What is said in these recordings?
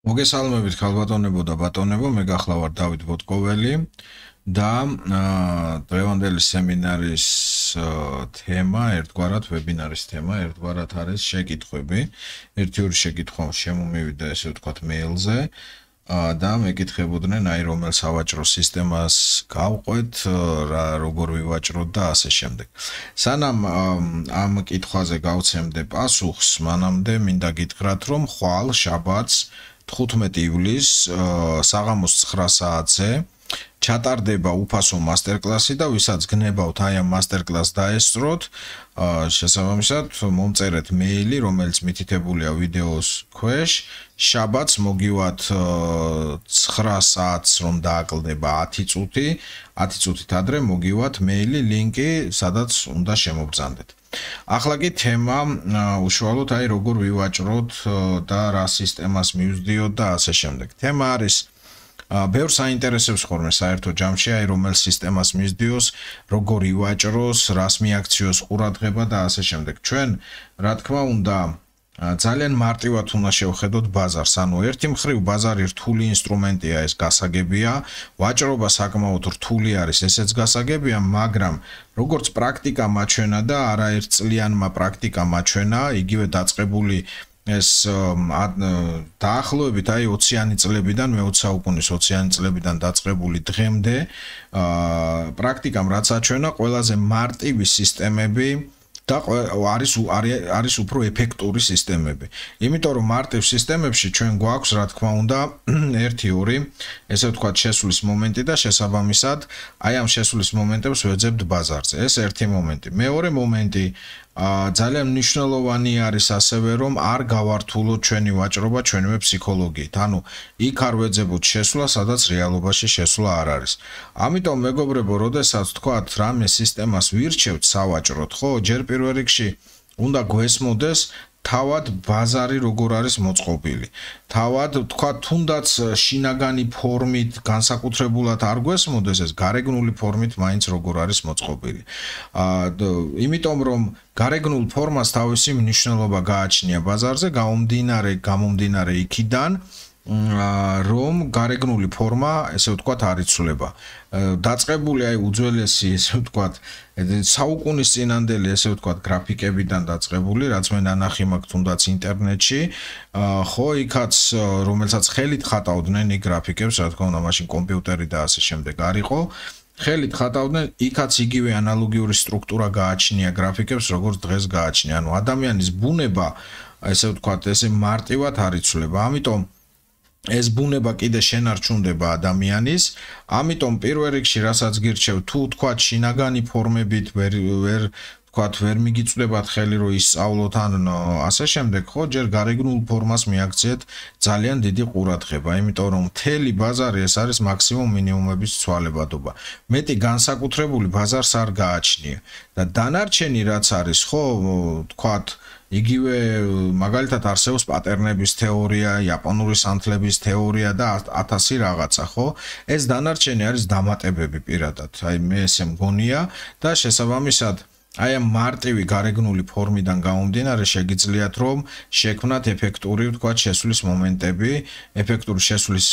მოგესალმებით ქალბატონებო და ბატონებო, მე გახლავარ დავით ბოტკოველი და დღევანდელი სემინარის თემა, ერთგვარად ვებინარის თემა, ერთგვარად არის შეკითხვები. ერთი-ორი შეკითხვა შემომივიდა, ესე ვთქვათ, მეილზე და მეკითხებოდნენ, აი რომელ სავაჭრო სისტემას გავყვეთ, როგორ ვივაჭროთ და ასე შემდეგ. სანამ ამ კითხვაზე გავცემდე პასუხს, მანამდე მინდა გითხრათ, რომ ხვალ შაბათს 15 ივლისს საღამოს 9 საათზე ჩატარდება უფასო მასტერკლასი და ვისაც გნებავთ აი ამ მასტერკლასს დაესწროთ, შესაბამისად მომწერეთ მეილი, რომელიც მითითებულია ვიდეოს ქვეშ, შაბათს მოგივათ 9 საათს რომ დააკლდება 10 წუთი, 10 წუთით ადრე მოგივათ მეილი, ლინკი, სადაც უნდა შემობრძანდეთ. ახლა კი თემა უშუალოდ აი როგორ ვივაჭროთ და რა სისტემას მივსდიოთ და ასე შემდეგ. თემა არის ბევრს აინტერესებს ხოლმე საერთო ჯამში აი რომელ სისტემას მისდიოს, როგორ ივაჭროს, რას მიაქციოს ყურადღება და ასე შემდეგ. ჩვენ, რა თქმა უნდა, ძალიან მარტივად უნდა შევხედოთ ბაზარს. ანუ ერთი მხრივ ბაზარი რთული ინსტრუმენტია, ეს გასაგებია, ვაჭრობა საკმაოდ რთული არის, ესეც გასაგებია, მაგრამ როგორც პრაქტიკა მაჩვენა და არაერთწლიანმა პრაქტიკა მაჩვენა, იგივე დაწყებული ეს დაახლოებით აი 20-იანი წლებიდან, მე-20 საუკუნის 20-იანი წლებიდან დაწყებული დღემდე პრაქტიკამ რაც აჩვენა, ყველაზე მარტივი სისტემები და არის უფრო ეფექტური სისტემები. იმიტომ რომ მარტივ სისტემებში ჩვენ გვაქვს, რა თქმა უნდა, 1-2, ესე ვთქვათ, შესulis მომენტი და შესაბამისად, აი ამ შესulis მომენტებს ვეძებთ ბაზარზე. ეს ერთი მომენტი. მეორე მომენტი ძალიან მნიშვნელოვანი არის ასევე რომ არ გავართულოთ ჩვენი ვაჭრობა ჩვენივე ფსიქოლოგიით. ანუ იქ არ ვეძებოთ შესვლა, სადაც რეალობაში შესვლა არ არის. ამიტომ მეგობრებო, როდესაც თქვათ რამე სისტემას ვირჩევთ სავაჭროდ, ხო, ჯერ პირველ რიგში უნდა გვესმოდეს თავად ბაზარი როგორ არის მოწყობილი. თავად თქვათ თუნდაც შინაგანი ფორმით განსაკუთრებულად არ გვესმოდეს ეს გარეგნული ფორმით მაინც როგორ არის მოწყობილი. იმიტომ რომ გარეგნულ ფორმას თავისი მნიშვნელობა გააჩნია ბაზარზე, გამომდინარე იქიდან რომ გარეგნული ფორმა, ესე ვთქვათ, არ იცვლება. დაწყებული აი უძველესი, ესე ვთქვათ, საუკუნის წინანდელი, ესე ვთქვათ, გრაფიკებიდან დაწყებული, რაც მე ნანახი მაქვს თუნდაც ინტერნეტში, ხო, იქაც რომელსაც ხელით ხატავდნენ იქ გრაფიკებს, რა თქმა უნდა, მაშინ კომპიუტერი და ასე შემდეგ არ იყო. ხელით ხატავდნენ, იქაც იგივე ანალოგიური სტრუქტურა გააჩნია გრაფიკებს, როგორც დღეს გააჩნია. ანუ ადამიანის ბუნება, ესე ვთქვათ, ესე მარტივად არ იცვლება. ამიტომ ეს ბუნება კიდე შენარჩუნდება ადამიანის, ამიტომ პირველ რიგში რასაც გირჩევ, თუ თქვათ შინაგანი ფორმებით ვერ მიგიწვდებათ ხელი რომ ისწავლოთ ან ასე შემდეგ, ხო, ჯერ გარეგნულ ფორმას მიაქციეთ ძალიან დიდი ყურადღება, იმიტომ რომ მთელი ბაზარი ეს არის მაქსიმუმ მინიმუმების ცვალებადობა. მეტი განსაკუთრებული ბაზარს არ გააჩნია და დანარჩენი რაც არის, ხო, თქვათ იგივე მაგალითად არსებობს პატერნების თეორია, იაპონური სანთლების თეორია და 1000 რაღაცა, ხო? ეს დანარჩენი არის დამატებები პირადად. აი მე ესე მგონია და შესაბამისად აი ამ მარტივი გარეგნული ფორმიდან გამომდინარე შეგიძლიათ რომ შექმნათ ეფექტური, ვთქვათ, შესulis მომენტები, ეფექტური შესulis,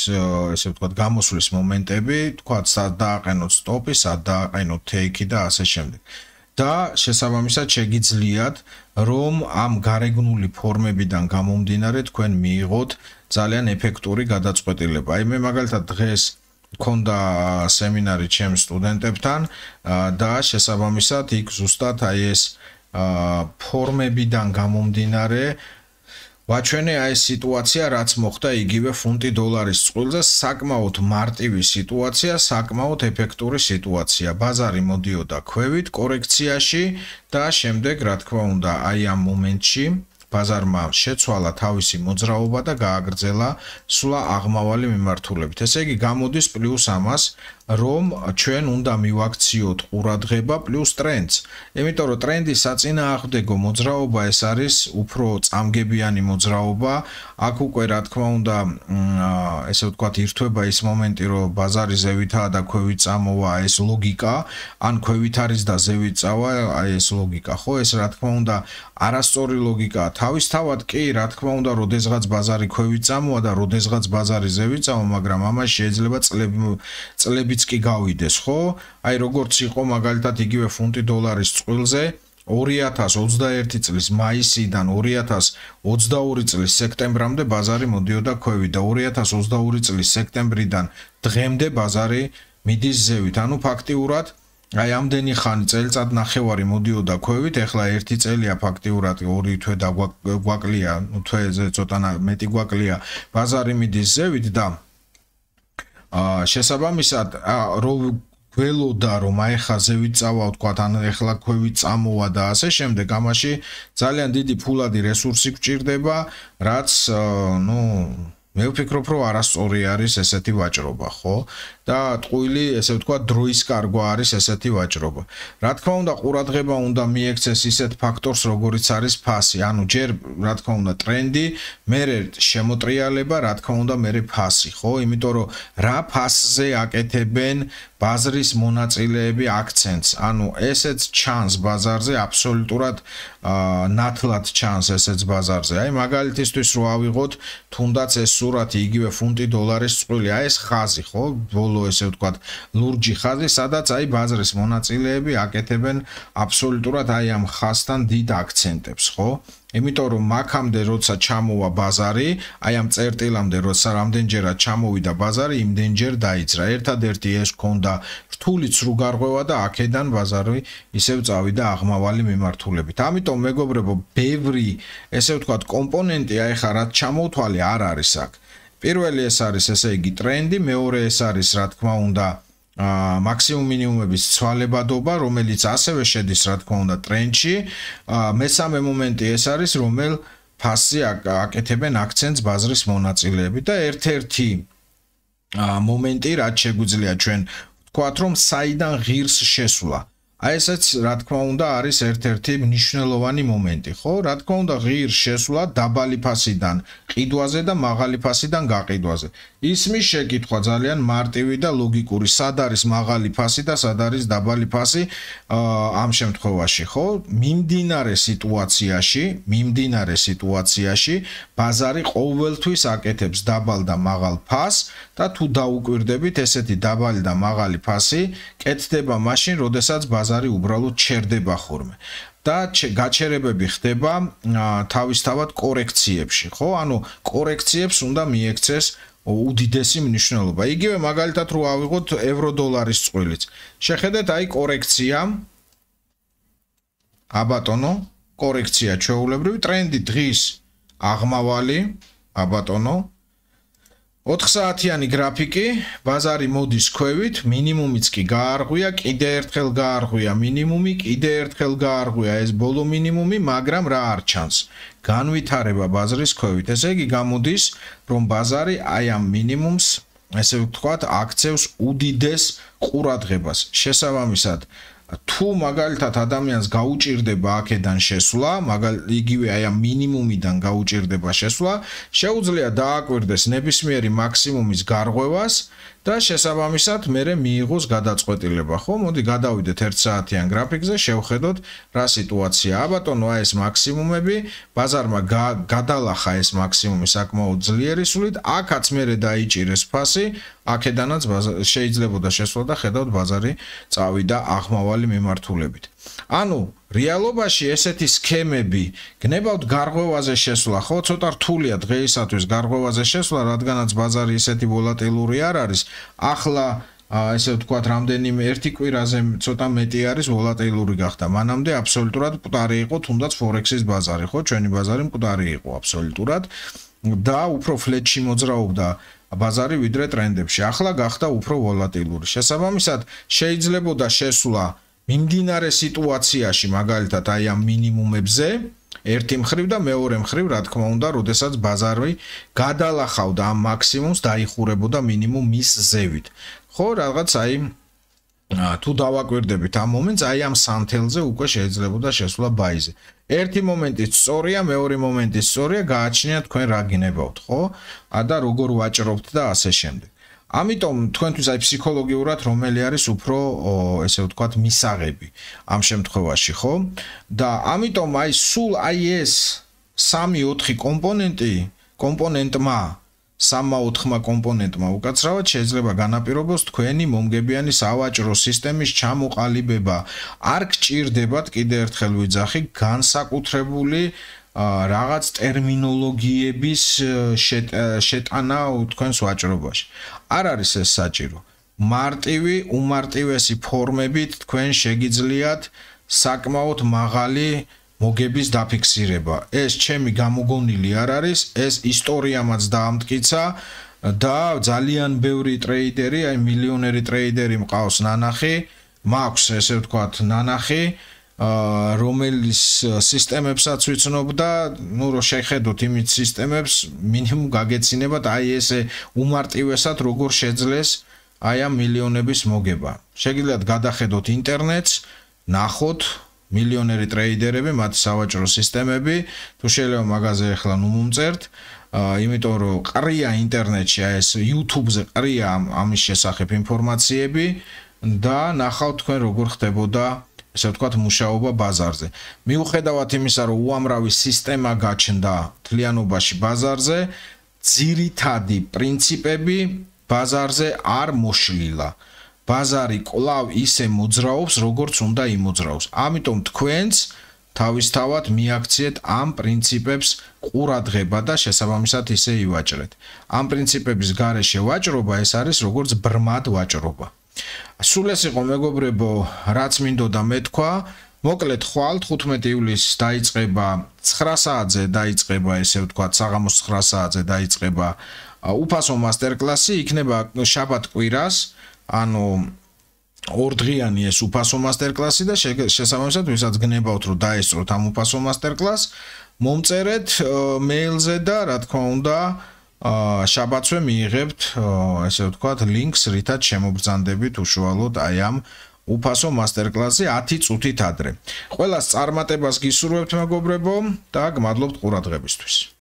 ესე ვთქვათ, გამოსulis მომენტები, ვთქვათ, სად დააყენოთ სტოპი, სად დააყენოთ take-ი და ასე შემდეგ. და შესაბამისად შეგიძლიათ რომ ამ გარეგნული ფორმებიდან გამომდინარე თქვენ მიიღოთ ძალიან ეფექტური გადაწყვეტილება. აი მე მაგალითად დღეს მქონდა სემინარი ჩემს სტუდენტებთან და შესაბამისად იქ ზუსტად აი ეს ფორმებიდან გამომდინარე ვაჩვენე აი სიტუაცია, რაც მოხდა იგივე ფუნტი დოლარის წყვილზე, საკმაოდ მარტივი სიტუაცია, საკმაოდ ეფექტური სიტუაცია. ბაზარი მოდიოდა ქვევით კორექციაში და შემდეგ, რა თქმა უნდა, აი ამ მომენტში ბაზარმა შეცვალა თავისი მოძრაობა და გააგრძელა სულა აღმავალი მიმართულებით. ესე იგი გამოდის პლუს ამას, რომ ჩვენ უნდა მივაქციოთ ყურადღება პლუს ტრენდს. იმიტომ რომ ტრენდის საწინააღმდეგო მოძრაობა ეს არის უფრო წამგებიანი მოძრაობა. აქ უკვე რა თქმა უნდა, ესე ვთქვათ, ირთვება ის მომენტი, რომ ბაზარი ზევითაა და ქვევით წამოვა, ეს ლოგიკა, ან ქვევით არის და ზევით წავა, აი ეს ლოგიკა, ხო? ეს რა თქმა უნდა არასწორი ლოგიკაა თავისთავად კი, რა თქმა უნდა, როდესღაც ბაზარი ქვევით წამოვა და როდესღაც ბაზარი ზევით წამოვა, მაგრამ ამას შეიძლება წლებიც კი გავიდეს, ხო? აი როგორც იყო მაგალითად იგივე ფუნტი დოლარის წყვილზე 2021 წლის მაისიდან 2022 წლის სექტემბრამდე ბაზარი მოდიოდა ქვევით და 2022 წლის სექტემბრიდან დღემდე ბაზარი მიდის ზევით. ანუ ფაქტიურად აი ამდენი ხანი წელიწად ნახევარი მოდიოდა ქვევით, ეხლა 1 წელია ფაქტიურად 2 თვე დაგვაკლია, თვეზე ცოტა მეტი გვაკლია, ბაზარი მიდის ზევით და შესაბამისად გველოდა რომ აი ხა ზევით წავა ვთქვათ, ან ეხლა ქვევით წამოვა და ასე შემდეგ, ამაში ძალიან დიდი ფულადი რესურსი გვჭირდება, რაც მე ვფიქრობ რომ არასწორი არის ესეთი ვაჭრობა, ხო? და ტყუილი, ესე ვთქვათ, დროის კარგვა არის ესეთი ვაჭრობა. რა თქმა უნდა, ყურადღება უნდა მიექცეს ისეთ ფაქტორს, როგორიც არის ფასი. ანუ ჯერ, რა თქმა უნდა, ტრენდი, მერე შემოტრიალება, რა თქმა უნდა, მერე ფასი, ხო? იმიტომ რომ რა ფასზე აკეთებენ ბაზრის მონაწილეები აქცენტს. ანუ ესეც ჩანს ბაზარზე, აბსოლუტურად ნათლად ჩანს ესეც ბაზარზე. აი მაგალითისთვის რო ავიღოთ, თუნდაც ეს სურათი იგივე ფუნტი დოლარის წყვილი, აი ეს ხაზი, ხო? ესე ვთქვათ, ლურჯი ხაზი, სადაც აი ბაზრის მონაწილეები აკეთებენ აბსოლუტურად აი ამ ხაზთან დიდ აქცენტებს, ხო? იმიტომ რომ მაქამდე როცა ჩამოვა ბაზარი, აი ამ წერტილამდე როცა რამდენჯერად ჩამოვიდა ბაზარი, იმდენჯერ დაიძრა. ერთადერთი ეს ქონდა რთული ცრუ გარღვევა და აქედან ბაზარი ისევ წავიდა აღმავალი მიმართულებით. ამიტომ მეგობრებო, ბევრი ესე ვთქვათ კომპონენტი აი ხა რაც ჩამოვთვალე არ არის აქ. პირველი ეს არის ესე იგი ტრენდი, მეორე ეს არის რა თქმა უნდა მაქსიმუმ მინიმუმების ცვალებადობა, რომელიც ასევე შედის რა თქმა უნდა ტრენდში. მესამე მომენტი ეს არის, რომელ ფასზე აკეთებენ აქცენტს ბაზრის მონაწილეები და ერთ-ერთი მომენტი, რაც შეგვიძლია ჩვენ ვთქვათ, რომ საიდან ღირს შესვლა. აი ესეც რა თქმა უნდა არის ერთ-ერთი მნიშვნელოვანი მომენტი, ხო? რა თქმა უნდა ღირს შესვლა დაბალი ფასიდან ყიდვაზე და მაღალი ფასიდან გაყიდვაზე. ისმის შეკითხვა ძალიან მარტივი და ლოგიკური, სად არის მაღალი ფასი და სად არის დაბალი ფასი ამ შემთხვევაში, ხო? მიმდინარე სიტუაციაში ბაზარი ყოველთვის აკეთებს დაბალ და მაღალ ფასს და თუ დაუკვირდებით ესეთი დაბალი და მაღალი ფასი კეთდება მაშინ, როდესაც ბაზარი უბრალოდ ჩერდება ხოლმე. და გაჩერებები ხდება თავისთავად კორექციებში, ხო? ანუ კორექციებს უნდა მიექცეს უდიდესი მნიშვნელობა. იგივე მაგალითად რო ავიღოთ ევრო-დოლარის წყვილიც. შეხედეთ აი კორექცია. აბატონო, კორექცია ჩვეულებრივი ტრენდი დღის აღმავალი, აბატონო 4 საათიანი გრაფიკი, ბაზარი მოდის ქვევით, მინიმუმიც კი გაარღვია, კიდე ერთხელ გაარღვია მინიმუმი, კიდე ერთხელ გაარღვია ეს ბოლო მინიმუმი, მაგრამ რა არ ჩანს? განვითარება ბაზრის ქვევით. ესე იგი გამოდის, რომ ბაზარი აი ამ მინიმუმს, ესე ვთქვათ, აქცევს უდიდეს ყურადღებას. შესაბამისად, თუ მაგალითად ადამიანს გაუჭირდება აქედან შესვლა, იგივე აი ამ მინიმუმიდან გაუჭირდება შესვლა, შეუძლია დააკვირდეს ნებისმიერი მაქსიმუმის გარღვევას და შესაბამისად მერე მიიღოს გადაწყვეტილება, ხო? მოდი გადავიდეთ 1 საათიან გრაფიკზე, შევხედოთ რა სიტუაცია. აბატონო, აი ეს მაქსიმუმები, ბაზარმა გადალახა ეს მაქსიმუმი საკმაოდ ძლიერი სულით, აქაც მერე დაიჭირეს ფასი, აქედანაც შეიძლებოდა შესვლა და ხედავთ ბაზარი წავიდა აღმავალი მიმართულებით. ანუ რეალობაში ესეთი სქემები გნებავთ გარღვევაზე შესვლა, ხო, ცოტა რთულია დღეისათვის გარღვევაზე შესვლა, რადგანაც ბაზარი ისეთი ვოლატილური არ არის. ახლა ესე ვთქვათ, რამდენიმე ერთი კვირაზე ცოტა მეტი არის ვოლატილური გახდა. მანამდე აბსოლუტურად მკვდარი იყო თუნდაც ფორექსის ბაზარი, ხო, ჩვენი ბაზარი მკვდარი იყო აბსოლუტურად და უფრო ფლეტში მოძრაობდა ბაზარი ვიდრე ტრენდებში. ახლა გახდა უფრო ვოლატილური. შესაბამისად, შეიძლებოდა შესვლა მიმდინარე სიტუაციაში, მაგალითად აი ამ მინიმუმებზე, ერთი მხრივ და მეორე მხრივ, რა თქმა უნდა, როდესაც ბაზარი გადალახავდა ამ მაქსიმუმს, დაიხურებოდა მინიმუმ მის ზევით. ხო, რაღაც აი თუ დავაკვირდებით ამ მომენტს, აი ამ სანთელზე უკვე შეიძლებოდა შესვლა ბაიზე. ერთი მომენტიც სწორია, მეორე მომენტიც სწორია, გააჩნიათ თქვენ რა გინებავთ, ხო? და როგორ ვაჭრობთ და ასე შემდეგ. ამიტომ თქვენთვის აი ფსიქოლოგიურად რომელი არის უფრო ესე ვთქვათ მისაღები ამ შემთხვევაში, ხო? და ამიტომ აი სულ აი ეს 3-4 კომპონენტმა 3-4 კომპონენტმა უკაცრავად შეიძლება განაპირობოს თქვენი მომგებიანი სავაჭრო სისტემის ჩამოყალიბება. არ გჭირდებათ კიდევ ერთხელ ვიძახი განსაკუთრებული რაღაც ტერმინოლოგიების შეტანა თქვენს ვაჭრობაში. არ არის ეს საჭირო. მარტივი, უმარტივესი ფორმებით თქვენ შეგიძლიათ საკმაოდ მაღალი მოგების დაფიქსირება. ეს ჩემი გამოგონილი არ არის, ეს ისტორიამაც დაამტკიცა და ძალიან ბევრი ტრეიდერი, აი მილიონერი ტრეიდერი მყავს ნანახი, მაქვს ესე ვთქვათ ნანახი, რომელიც სისტემებსაც ვიცნობ და ნუ რო შეხედოთ იმით სისტემებს, მინიმუმ გაგეცინებათ აი ესე უმარტივესად როგორ შეძლეს აი ამ მილიონების მოგება. შეგიძლიათ გადახედოთ ინტერნეტს, ნახოთ მილიონერი ტრეიდერები, მათი სავაჭრო სისტემები, თუ შეიძლება მაგაზე ახლა ნუ მომწერთ, იმიტომ რომ ყრია ინტერნეტში, აი ეს YouTube-ზე ყრია ამის შესახებ ინფორმაციები და ნახავთ თქვენ როგორ ხდებოდა, ესე ვთქვათ, მუშაობა ბაზარზე. მიუხედავად იმისა, რომ უამრავი სისტემა გაჩნდა თლიანობაში ბაზარზე, ძირითადი პრინციპები ბაზარზე არ მოშლილა. ბაზარი კვლავ ისე მოძრაობს, როგორც უნდა იმოძრაოს. ამიტომ თქვენც თავისთავად მიაქციეთ ამ პრინციპებს ყურადღება და შესაბამისად ისე ივაჭრეთ. ამ პრინციპების გარეშე ვაჭრობა ეს არის როგორც ბრმად ვაჭრობა. სულ ეს იყო მეგობრებო, რაც მინდოდა მეთქვა. მოკლედ ხვალ 15 ივლისს დაიწყება 9 საათზე დაიწყება ესე ვთქვათ, საღამოს 9 საათზე დაიწყება უფასო მასტერკლასი, იქნება შაბათ კვირას, ანუ ორდღიანი ეს უფასო მასტერკლასი და შესაბამისად ვისაც გნებავთ რომ დაესწროთ ამ უფასო მასტერკლასს, მომწერეთ მეილზე და რა თქმა უნდა შაბათსვე მიიღებთ ესე ვთქვათ ლინკს, რითაც შემობრძანდებით უშუალოდ აი ამ უფასო მასტერკლასზე 10 წუთით ადრე. ყველას წარმატებას გისურვებთ მეგობრებო და გმადლობთ ყურადღებისთვის.